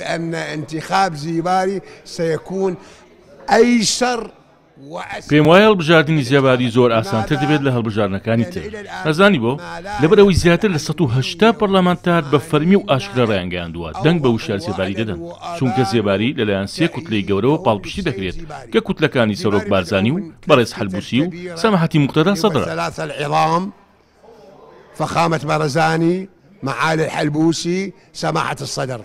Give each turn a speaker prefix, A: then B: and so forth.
A: أن انتخاب زیباری سيكون أيسر.
B: پێم وایە هەڵبژاردنی زێباری زۆر ئاسانتر دەبێت لە هەڵبژاردنەکانی تر. ئەزانی بۆ؟ لەبەر ئەوەی زیاتر لە 180 پەرلەمانتار بە فەرمی و ئاشکرا ڕایانگەیاندووە دەنگ بە وشیار زێباری دەدەن، چونکە زێباری لەلایەن سێ کوتلەی گەورەوە پاڵپشتی دەکرێت کە کوتلەکانی سەرۆک بارزانی و بەڕێز حەلبوسی و سەماحەتی موقتەدا سەدرە.
A: فخامة بارزاني معالي الحلبوسي سماحة الصدر.